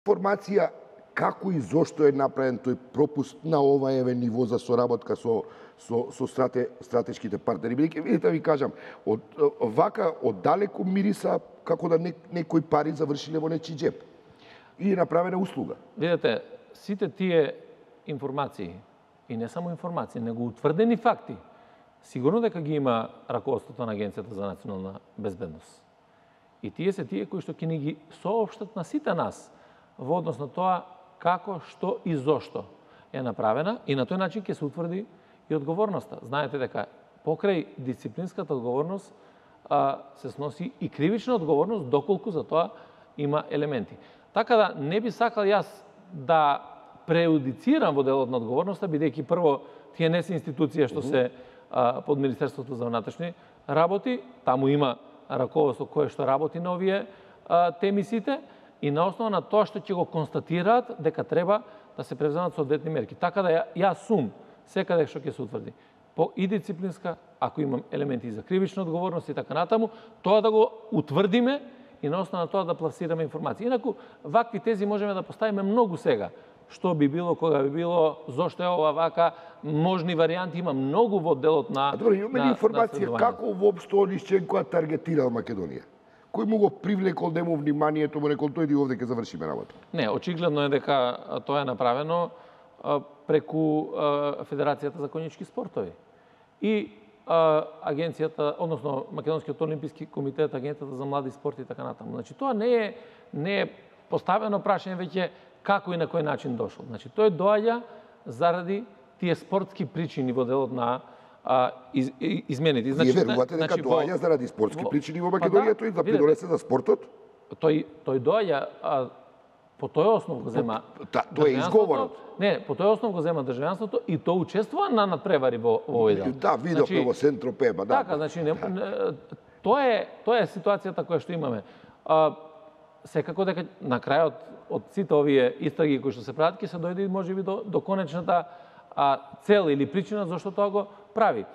информација како и зошто е направен тој пропуст на ова ниво за соработка со стратешките партнери. Бидејќи, видите, ви кажам, вака оддалеку мириса како да некои пари завршиле во нечи џеб. И е направена услуга. Видете, сите тие информации, и не само информации, него утврдени факти, сигурно дека ги има раководството на Агенцијата за национална безбедност. И тие се тие кои што ќе ни ги соопштат на сите нас во однос на тоа како, што и зошто е направена, и на тој начин ќе се утврди и одговорноста. Знаете дека покрај дисциплинската одговорност се сноси и кривична одговорност, доколку за тоа има елементи. Така да не би сакал јас да преюдицирам во делот на одговорноста, бидејќи прво тие не се институција што се под Министерството за внатрешни работи, таму има раководство кое што работи на овие теми сите, и на основа на тоа што ќе го констатираат дека треба да се превземат соодветни мерки. Така да јас сум секаде што ќе се утврди и дисциплинска, ако имам елементи за кривична одговорност и така натаму, тоа да го утврдиме и на основа на тоа да пласираме информации. Инаку, вакви тези можеме да поставиме многу сега. Што би било, кога би било, зошто е ова вака, можни варијанти, има многу во делот на Добро, имаме ли информација како воопшто Онишченко таргетирал Македонија? Кој му го привлекол нему вниманието, му рекол тој овде ќе завршиме работа? Не, очигледно е дека тоа е направено преку Федерацијата за конјички спортови. И агенцијата, односно Македонскиот олимписки комитет, агенцијата за млади спорт и така натаму. Значи тоа не е поставено прашање веќе како и на кој начин дошол. Значи тој доаѓа заради тие спортски причини во делот на измените. Вие верувате дека доаѓа заради спортски причини во Македонија, тој да придонесе за спортот? Тој доаѓа по тој основ го зема тоа е изговорот. Не, по тој основ го зема државјанството и тоа учествува на надпревари во овој дел. Да, видовме во Сент-Тропе, да. Така, значи тоа е ситуацијата која што имаме. Секако дека на крајот од сите овие истраги кои што се прават ќе се дојде можеби до конечната цел или причина зашто тоа го прави.